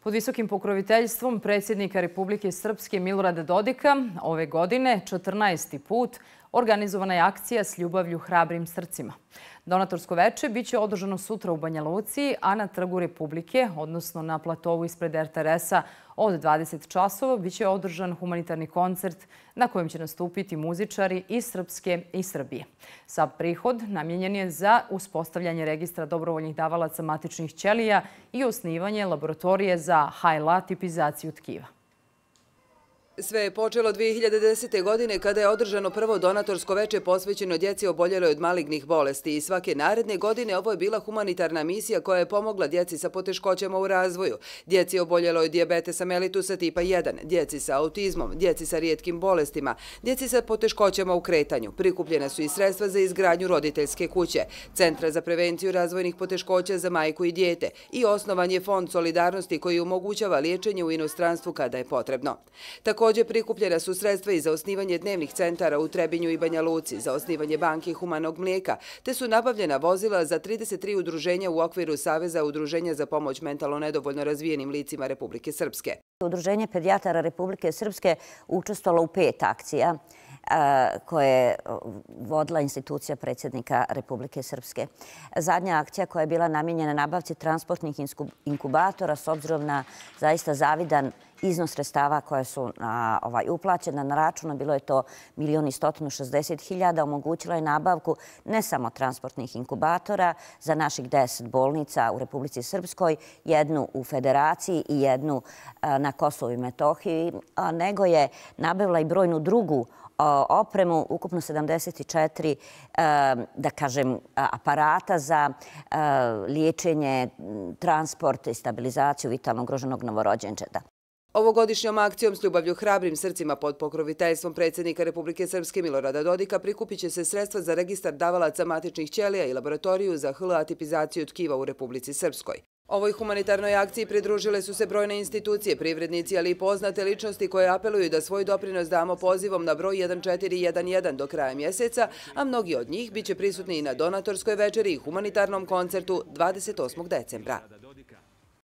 Pod visokim pokroviteljstvom predsjednika Republike Srpske Milorada Dodika ove godine 14. put organizovana je akcija S ljubavlju hrabrim srcima. Donatorsko veče biće održano sutra u Banja Luci, a na Trgu Republike, odnosno na platovu ispred RTS-a od 20 časova, biće održan humanitarni koncert na kojem će nastupiti muzičari iz Srpske i Srbije. Sav prihod namijenjen je za uspostavljanje registra dobrovoljnih davalaca matičnih ćelija i osnivanje laboratorije za HLA tipizaciju tkiva. Sve je počelo 2010. godine kada je održano prvo donatorsko veče posvećeno djeci oboljeloj od malignih bolesti i svake naredne godine ovo je bila humanitarna misija koja je pomogla djeci sa poteškoćama u razvoju, djeci oboljeloj od dijabetesa mellitusa tipa 1, djeci sa autizmom, djeci sa rijetkim bolestima, djeci sa poteškoćama u kretanju. Prikupljena su i sredstva za izgradnju roditeljske kuće, Centra za prevenciju razvojnih poteškoća za majku i dijete i osnovan je Fond solidarnosti koji omogućava liječenje u inostranstvu kada je potrebno. Također prikupljena su sredstva i za osnivanje dnevnih centara u Trebinju i Banja Luci, za osnivanje banke humanog mlijeka, te su nabavljena vozila za 33 udruženja u okviru Saveza udruženja za pomoć mentalno nedovoljno razvijenim licima Republike Srpske. Udruženje pedijatara Republike Srpske učestvovalo u 5 akcija koje je vodila institucija predsjednika Republike Srpske. Zadnja akcija koja je bila namijenjena nabavci transportnih inkubatora s obzirom na zaista zavidan iznos sredstava koje su uplaćena na račun, bilo je to 1.160.000, omogućila je nabavku ne samo transportnih inkubatora za naših 10 bolnica u Republici Srpskoj, jednu u Federaciji i jednu na Kosovu i Metohiji, nego je nabavila i brojnu drugu opremu, ukupno 74, da kažem, aparata za liječenje, transport i stabilizaciju vitalno ugroženog novorođenčeta. Ovogodišnjom akcijom S ljubavlju hrabrim srcima pod pokroviteljstvom predsjednika Republike Srpske Milorada Dodika prikupit će se sredstva za registar davalaca matičnih ćelija i laboratoriju za HLA tipizaciju tkiva u Republici Srpskoj. Ovoj humanitarnoj akciji pridružile su se brojne institucije, privrednici, ali i poznate ličnosti koje apeluju da svoj doprinos damo pozivom na broj 1411 do kraja mjeseca, a mnogi od njih biće prisutni i na donatorskoj večeri i humanitarnom koncertu 28. decembra.